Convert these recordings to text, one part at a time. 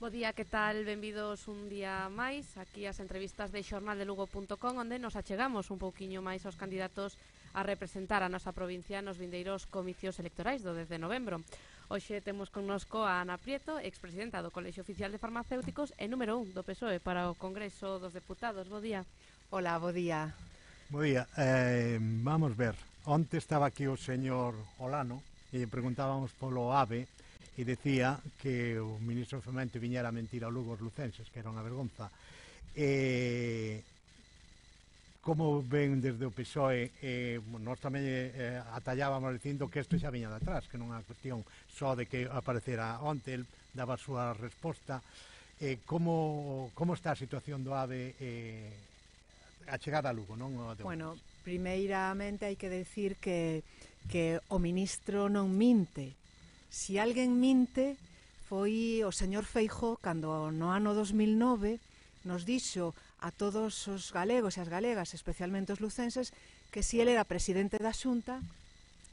Bo día, que tal? Benvidos un día máis aquí as entrevistas de xornaldelugo.com, onde nos achegamos un pouquiño máis aos candidatos a representar a nosa provincia nos vindeiros comicios electorais do 10 de novembro. Hoxe temos connosco a Ana Prieto, expresidenta do Colexio Oficial de Farmacéuticos e número 1 do PSOE para o Congreso dos Deputados. Bo día. Hola, bo día. Bo día. Vamos ver. Onte estaba aquí o señor Olano e preguntábamos polo AVE e decía que o ministro de Fomento viñera a mentir a Lugo os lucenses, que era unha vergonza. Como ven desde o PSOE, nós tamén atallábamos dicindo que isto xa viña de atrás, que non é unha cuestión só de que aparecera onte, el daba a súa resposta. Como está a situación do AVE a chegada a Lugo, non? Bueno, primeiramente hai que decir que o ministro non minte. Si alguén minte foi o señor Feijóo cando no ano 2009 nos dixo a todos os galegos e as galegas, especialmente os lucenses, que si ele era presidente da Xunta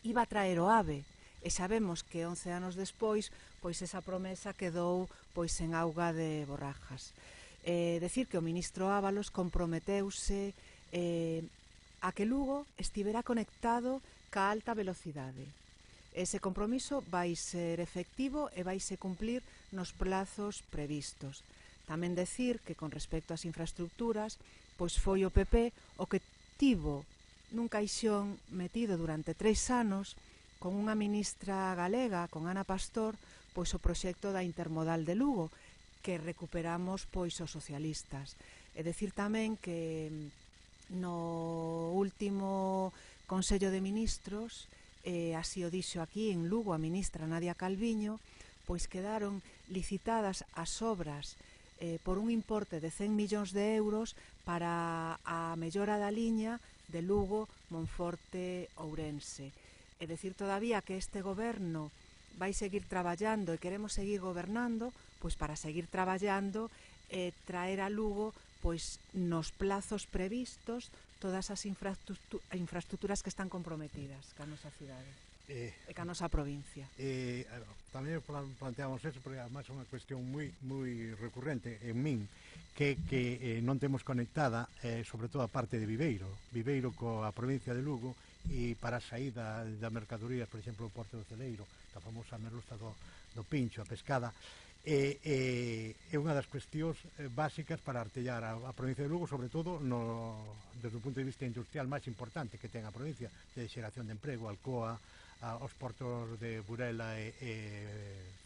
iba a traer o AVE. E sabemos que 11 anos despois pois esa promesa quedou pois en auga de borrajas. Decir que o ministro Ábalos comprometeuse a que Lugo estivera conectado ca alta velocidade. Ese compromiso vai ser efectivo e vai se cumplir nos plazos previstos. Tamén decir que con respecto ás infraestructuras, pois foi o PP o que tivo nun caixón metido durante 3 anos con unha ministra galega, con Ana Pastor, pois o proxecto da intermodal de Lugo, que recuperamos pois os socialistas. E decir tamén que no último Consello de Ministros, así o dixo aquí en Lugo a ministra Nadia Calviño, pois quedaron licitadas as obras por un importe de 100 millóns de euros para a mellora da liña de Lugo, Monforte, Ourense. É dicir todavía que este goberno vai seguir traballando e queremos seguir gobernando, pois para seguir traballando e traer a Lugo pois nos plazos previstos todas as infraestructuras que están comprometidas ca nosa cidade e ca nosa provincia. Tamén planteamos eso porque además é unha cuestión moi recurrente en min que non temos conectada sobre todo a parte de Viveiro coa provincia de Lugo e para a saída da mercadorías, por exemplo, o Porto do Celeiro, a famosa merluza do Pincho, a pescada. É unha das cuestións básicas para artellar a provincia de Lugo, sobre todo desde o punto de vista industrial máis importante que ten a provincia, de xeración de emprego, Alcoa, os portos de Burela e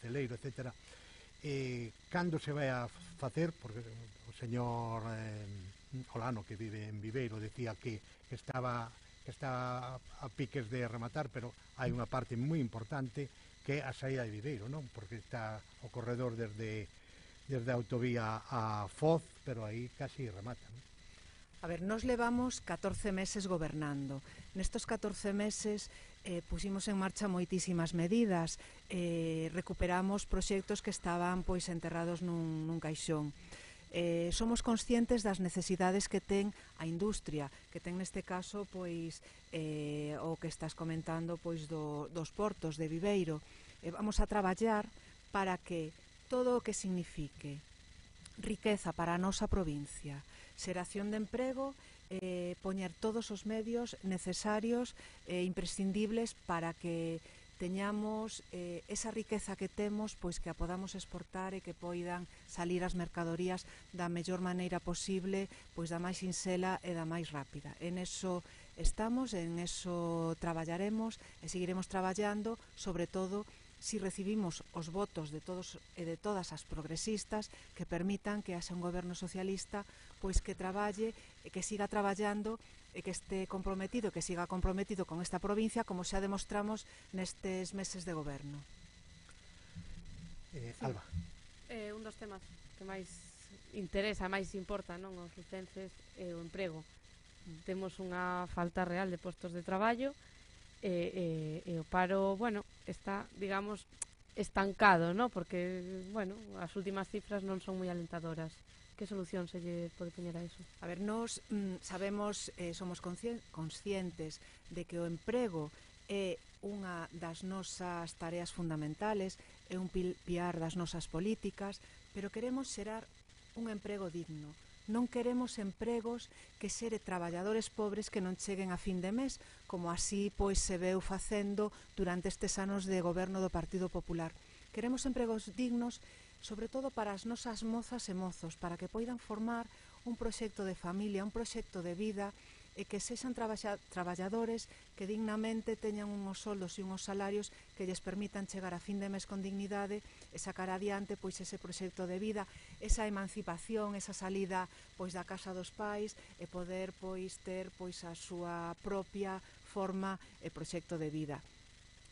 Celeiro, etc. Cando se vai a facer, porque o señor Olano, que vive en Viveiro, decía que está a piques de rematar, pero hai unha parte moi importante que a saída de Viveiro, non? Porque está o corredor desde a autovía a Foz, pero aí casi remata, non? A ver, nos levamos 14 meses gobernando. Nestos 14 meses pusimos en marcha moitísimas medidas, recuperamos proxectos que estaban pois enterrados nun caixón. Somos conscientes das necesidades que ten a industria, que ten neste caso pois o que estás comentando pois dos portos de Viveiro. Vamos a traballar para que todo o que signifique riqueza para a nosa provincia, xeración de emprego, poñer todos os medios necesarios e imprescindibles para que teñamos esa riqueza que temos, pois que a podamos exportar e que poidan salir as mercadorías da mellor maneira posible, pois da máis sinxela e da máis rápida. En eso estamos, en eso traballaremos e seguiremos traballando, sobre todo si recibimos os votos de todos e de todas as progresistas que permitan que haxa un goberno socialista pois que traballe e que siga traballando e que este comprometido, que siga comprometido con esta provincia como xa demostramos nestes meses de goberno. Alba. Un dos temas que máis interesa, máis importa, non, aos lucenses é o emprego. Temos unha falta real de postos de traballo e o paro, bueno, está, digamos, estancado, ¿no? Porque, bueno, as últimas cifras non son moi alentadoras. Que solución se lle pode poñer a eso? A ver, nós sabemos, somos conscientes de que o emprego é unha das nosas tareas fundamentales é un piar das nosas políticas, pero queremos xerar un emprego digno. Non queremos empregos que xere traballadores pobres que non cheguen a fin de mes, como así pois se veu facendo durante estes anos de goberno do Partido Popular. Queremos empregos dignos, sobre todo para as nosas mozas e mozos, para que poidan formar un proxecto de familia, un proxecto de vida, e que sexan traballadores que dignamente teñan unhos soldos e unhos salarios que lles permitan chegar a fin de mes con dignidade e sacar adiante pois ese proxecto de vida, esa emancipación, esa salida pois da casa dos pais e poder pois ter pois a súa propia forma e proxecto de vida.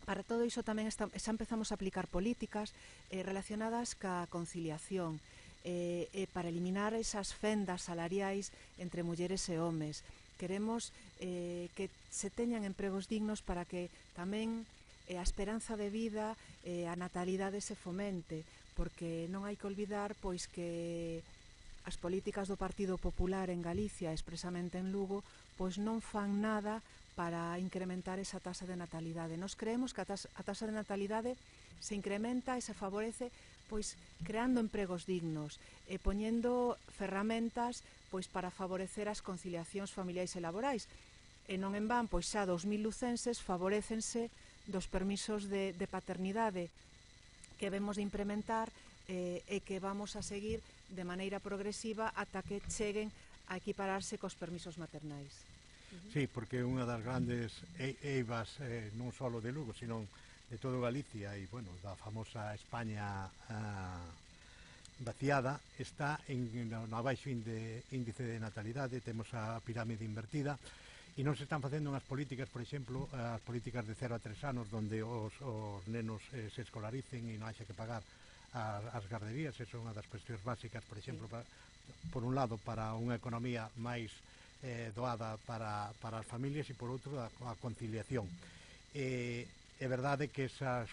Para todo iso tamén xa empezamos a aplicar políticas relacionadas ca conciliación, para eliminar esas fendas salariais entre mulleres e homes. Queremos que se teñan empregos dignos para que tamén a esperanza de vida, a natalidade se fomente, porque non hai que olvidar pois que as políticas do Partido Popular en Galicia, expresamente en Lugo, pois non fan nada para incrementar esa tasa de natalidade. Nos creemos que a tasa de natalidade se incrementa e se favorece pois creando empregos dignos e poñendo ferramentas pois para favorecer as conciliacións familiares e laborais. E non en van, pois xa 2000 lucenses favorécense dos permisos de paternidade que vemos de implementar e que vamos a seguir de maneira progresiva ata que cheguen a equipararse cos permisos maternais. Sí, porque unha das grandes eivas non só de Lugo, sino de todo Galicia e, bueno, da famosa España vaciada, está no abaixo índice de natalidade, temos a pirámide invertida e non se están facendo unhas políticas, por exemplo, as políticas de 0 a 3 anos onde os nenos se escolaricen e non haxa que pagar as garderías. Esa é unha das cuestións básicas, por exemplo, por un lado, para unha economía máis doada para as familias e por outro a conciliación. É verdade que esas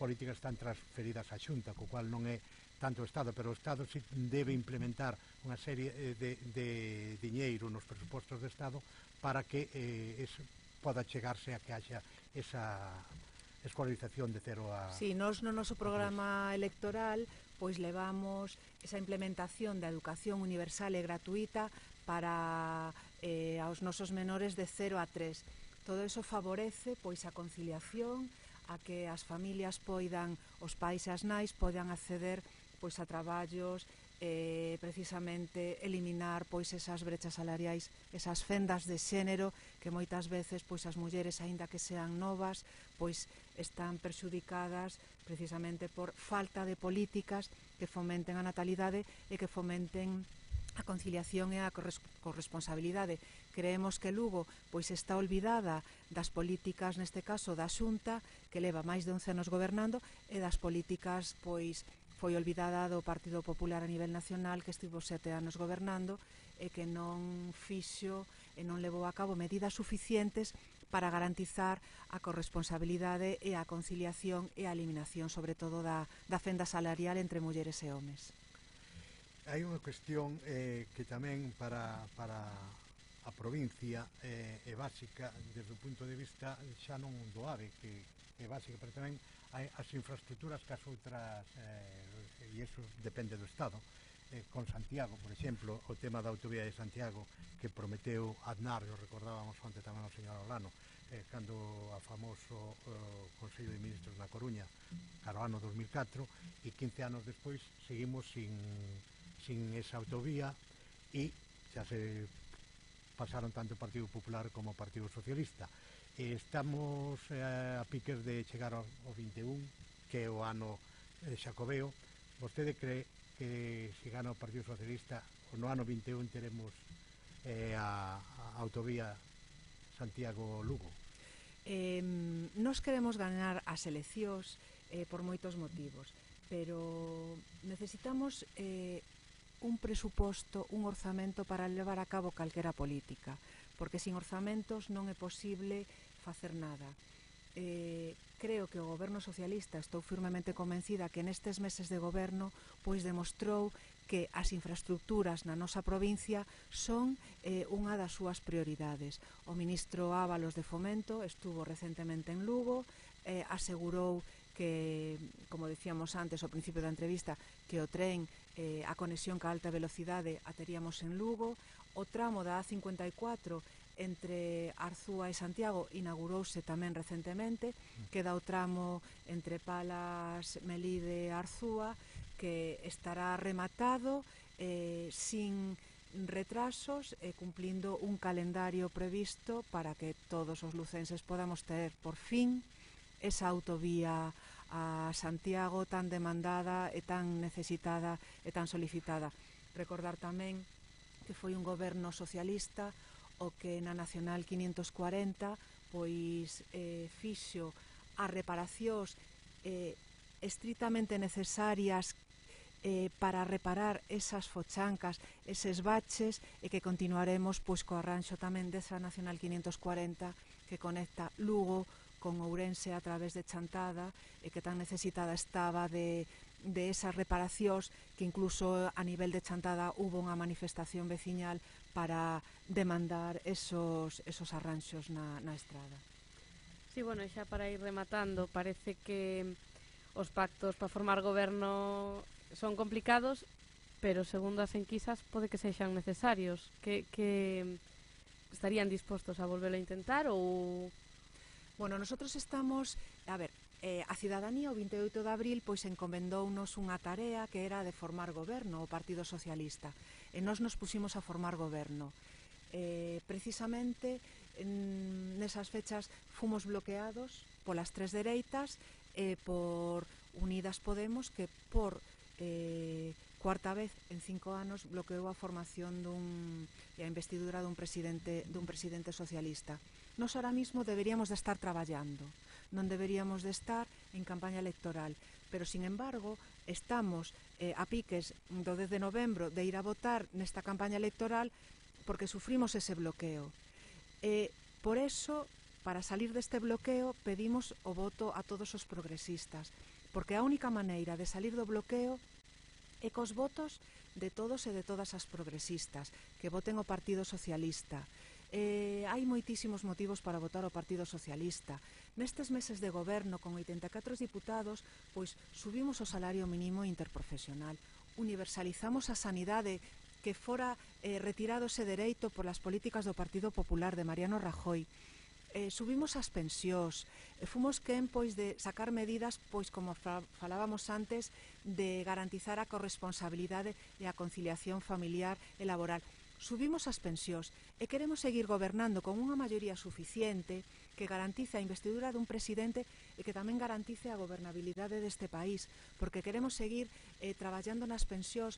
políticas están transferidas á Xunta, co cual non é tanto o Estado, pero o Estado sí debe implementar unha serie de diñeiro nos presupostos do Estado para que poda chegarse a que haxa esa escolarización de 0 a... Sí, nos no noso programa electoral pois levamos esa implementación da educación universal e gratuita para aos nosos menores de 0 a 3. Todo iso favorece pois a conciliación, a que as familias poidan, os pais e as nais poidan acceder pois a traballos, precisamente eliminar pois esas brechas salariais, esas fendas de xénero que moitas veces pois as mulleres, aínda que sean novas, pois están perxudicadas precisamente por falta de políticas que fomenten a natalidade e que fomenten a conciliación e a corresponsabilidade. Creemos que Lugo pois está olvidada das políticas, neste caso da Xunta, que leva máis de 11 anos gobernando, e das políticas pois foi olvidada do Partido Popular a nivel nacional, que estivo 7 anos gobernando e que non fixo e non levou a cabo medidas suficientes para garantizar a corresponsabilidade e a conciliación e a eliminación, sobre todo, da fenda salarial entre mulleres e homes. Hai unha cuestión que tamén para a provincia é básica desde o punto de vista xa non do AVE, que é básica, pero tamén hai as infraestructuras que as outras, e iso depende do Estado. Con Santiago, por exemplo, o tema da autovía de Santiago que prometeu Aznar, o recordábamos onte tamén o señor Olano, cando a famoso Consello de Ministros na Coruña, cara ao ano 2004, e 15 anos despois seguimos sin esa autovía e xa se pasaron tanto o Partido Popular como o Partido Socialista. Estamos a piques de chegar ao 21, que é o ano xacobeo. Vostede cree que se gana o Partido Socialista no ano 21 teremos a autovía Santiago-Lugo? Nos queremos ganar as eleccións por moitos motivos, pero necesitamos un presuposto, un orzamento para levar a cabo calquera política, porque sin orzamentos non é posible facer nada. Creo que o goberno socialista, estou firmemente convencida que nestes meses de goberno pois demostrou que as infraestructuras na nosa provincia son unha das súas prioridades. O ministro Ábalos de Fomento estuvo recentemente en Lugo, asegurou que que, como decíamos antes ao principio da entrevista, que o tren, a conexión ca alta velocidade a teríamos en Lugo. O tramo da A54 entre Arzúa e Santiago inaugurouse tamén recentemente. Queda o tramo entre Palas, Melide e Arzúa, que estará rematado sin retrasos e cumplindo un calendario previsto para que todos os lucenses podamos ter por fin esa autovía a Santiago tan demandada e tan necesitada e tan solicitada. Recordar tamén que foi un goberno socialista o que na Nacional 540 pois fixo as reparacións estritamente necesarias para reparar esas fochancas, eses baches, e que continuaremos pois co arranxo tamén desa Nacional 540 que conecta Lugo con Ourense a través de Chantada, e que tan necesitada estaba de esas reparacións, que incluso a nivel de Chantada hubo unha manifestación veciñal para demandar esos arranxos na estrada. Sí, bueno, xa para ir rematando, parece que os pactos para formar goberno son complicados, pero segundo as enquisas pode que sexan necesarios. Que estarían dispostos a volverlo a intentar ou... Bueno, nosotros estamos... A ver, a cidadanía o 28 de abril pois encomendounos unha tarea que era de formar goberno, o Partido Socialista, e nós nos pusimos a formar goberno. Precisamente nesas fechas fomos bloqueados polas tres dereitas e por Unidas Podemos, que por cuarta vez en 5 anos bloqueou a formación e a investidura dun presidente socialista. Nos ahora mismo deberíamos de estar traballando, non deberíamos de estar en campaña electoral, pero sin embargo estamos a piques do 10 de novembro de ir a votar nesta campaña electoral porque sufrimos ese bloqueo. Por eso, para salir deste bloqueo, pedimos o voto a todos os progresistas, porque a única maneira de salir do bloqueo é cos votos de todos e de todas as progresistas que voten o Partido Socialista. Hai moitísimos motivos para votar o Partido Socialista. Nestes meses de goberno, con 84 diputados, pois subimos o salario mínimo interprofesional, universalizamos a sanidade, que fora retirado ese dereito polas políticas do Partido Popular de Mariano Rajoy. Subimos as pensións, fomos quen pois de sacar medidas, pois como falábamos antes, de garantizar a corresponsabilidade e a conciliación familiar e laboral. Subimos as pensións e queremos seguir gobernando con unha maioría suficiente que garantice a investidura dun presidente e que tamén garantice a gobernabilidade deste país, porque queremos seguir traballando nas pensións,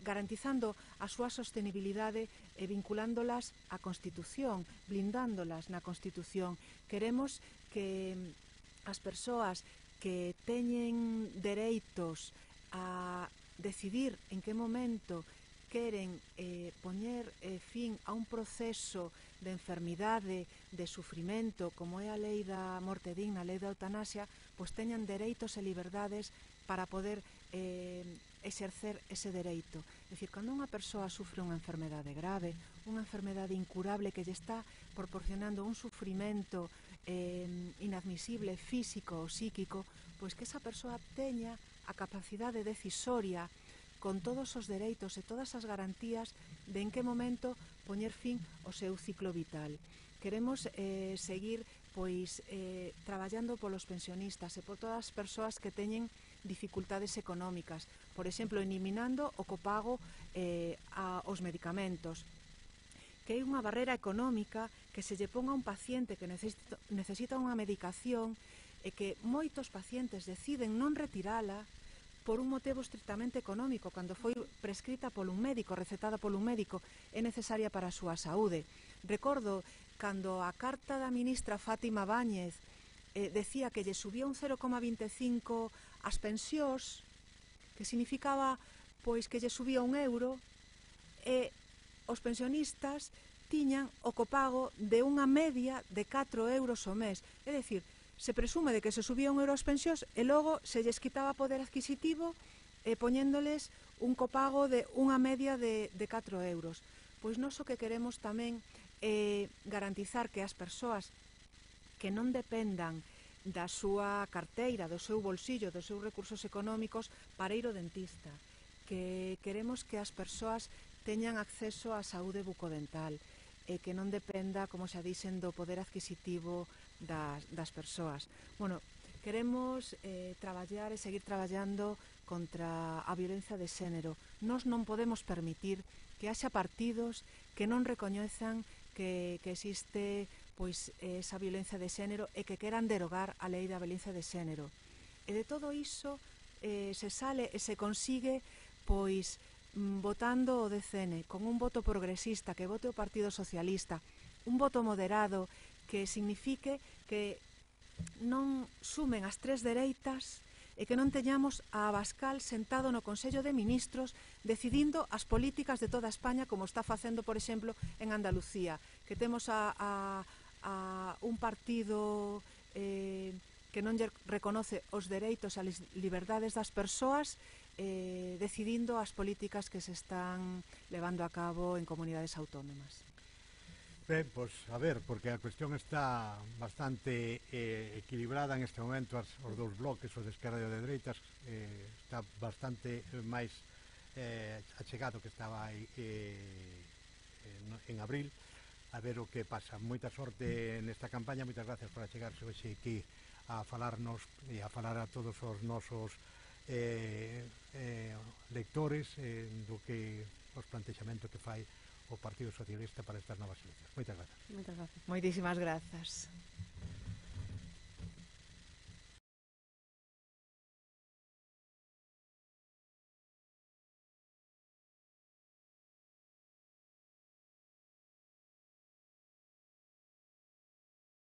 garantizando a súa sostenibilidade e vinculándolas á Constitución, blindándolas na Constitución. Queremos que as persoas que teñen dereitos a decidir en que momento queren poñer fin a un proceso de enfermidade, de sufrimento, como é a lei da morte digna, a lei da eutanasia, pois teñan dereitos e liberdades para poder exercer ese dereito. É dicir, cando unha persoa sufre unha enfermedade grave, unha enfermedade incurable que lle está proporcionando un sufrimento inadmisible, físico ou psíquico, pois que esa persoa teña a capacidade decisoria con todos os dereitos e todas as garantías de en que momento poñer fin ao seu ciclo vital. Queremos seguir pois traballando polos pensionistas e por todas as persoas que teñen dificultades económicas, por exemplo, eliminando o copago aos medicamentos, que é unha barrera económica que se lle ponga a un paciente que necesita unha medicación e que moitos pacientes deciden non retirala por un motivo estritamente económico, cando foi prescrita por un médico, recetada por un médico, é necesaria para a súa saúde. Recordo cando a carta da ministra Fátima Báñez decía que lle subía un 0,25 as pensións, que significaba pois que lle subía €1, e os pensionistas tiñan o copago de unha media de €4 ao mes. É dicir, se presume de que se subía €1 as pensións e logo se lles quitaba poder adquisitivo poñéndoles un copago de unha media de €4. Pois nós o que queremos tamén é garantizar que as persoas que non dependan da súa carteira, do seu bolsillo, dos seus recursos económicos para ir ao dentista, que queremos que as persoas teñan acceso á saúde bucodental e que non dependa, como xa dixen, do poder adquisitivo das persoas. Bueno, queremos traballar e seguir traballando contra a violencia de xénero. Nós non podemos permitir que haxa partidos que non recoñezan que existe pois esa violencia de xénero e que queran derogar a lei da violencia de xénero. E de todo iso se sale e se consigue pois votando o DCN con un voto progresista que vote o Partido Socialista, un voto moderado que signifique que non sumen as tres dereitas e que non teñamos a Abascal sentado no Consello de Ministros decidindo as políticas de toda España, como está facendo, por exemplo, en Andalucía, que temos a un partido que non lle reconoce os dereitos e as liberdades das persoas decidindo as políticas que se están levando a cabo en comunidades autónomas. Ben, pois, a ver, porque a cuestión está bastante equilibrada en este momento, os dous bloques, os de esquerda e os de dereitas, está bastante máis achegado que estaba aí en abril. A ver o que pasa. Moita sorte nesta campaña, moitas gracias por achegarse hoxe aquí a falarnos e a falar a todos os nosos lectores do que os plantexamentos que fai o Partido Socialista para estas novas eleccións. Moitas gracias. Moitas gracias. Moitísimas grazas.